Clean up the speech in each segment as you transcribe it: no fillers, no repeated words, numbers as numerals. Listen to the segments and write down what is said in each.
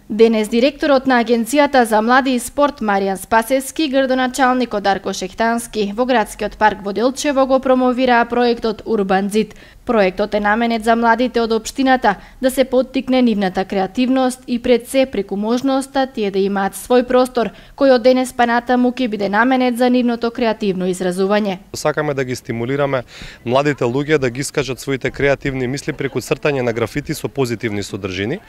Денес директорот на Агенцијата за млади и спорт Маријан Спасевски, градоначалникот Дарко Шехтански во градскиот парк во Делчево го промовираа проектот Урбан Зид. Проектот е наменет за младите од општината да се поттикне нивната креативност и пред се преку можноста тие да имаат свој простор кој од денес па натаму ќе биде наменет за нивното креативно изразување. Сакаме да ги стимулираме младите луѓе да ги искажат своите креативни мисли преку цртање на графити со позитивни содржини.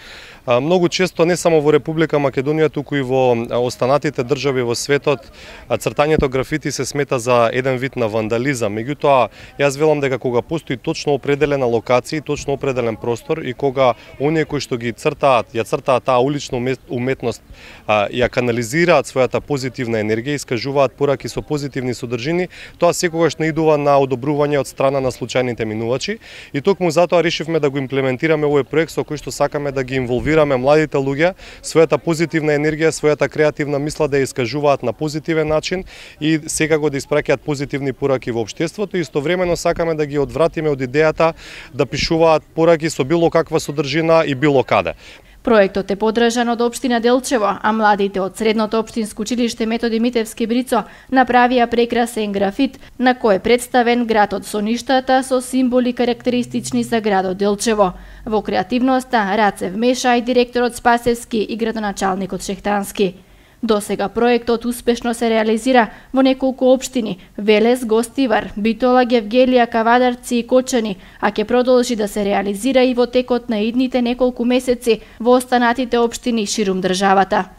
Многу често не само во Република Македонија, туку и во останатите држави во светот, цртањето графити се смета за еден вид на вандализам. Меѓутоа, јас велам дека кога постои точно определена локација, точно определен простор и кога оние кои што ги цртаат, ја цртаат таа улична уметност, ја канализираат својата позитивна енергија, искажуваат пораки со позитивни содржини, тоа секогаш наидува на одобрување од страна на случајните минувачи и токму затоа решивме да го имплементираме овој проект со кој што сакаме да ги инволвираме младите луѓе, својата позитивна енергија, својата креативна мисла да ја искажуваат на позитивен начин и секако да испраќаат позитивни пораки во општеството и истовремено сакаме да ги одвратиме од идејата да пишуваат пораки со било каква содржина и било каде. Проектот е поддржан од општина Делчево, а младите од Средното општинско училиште Методи Митевски Брицо направија прекрасен графит на кој е представен градот со ништата со символи карактеристични за градот Делчево. Во креативноста раце вмеша и директорот Спасевски и градоначалникот Шехтански. Досега проектот успешно се реализира во неколку општини: Велес, Гостивар, Битола, Гевгелија, Кавадарци и Кочани, а ќе продолжи да се реализира и во текот на идните неколку месеци во останатите општини ширум државата.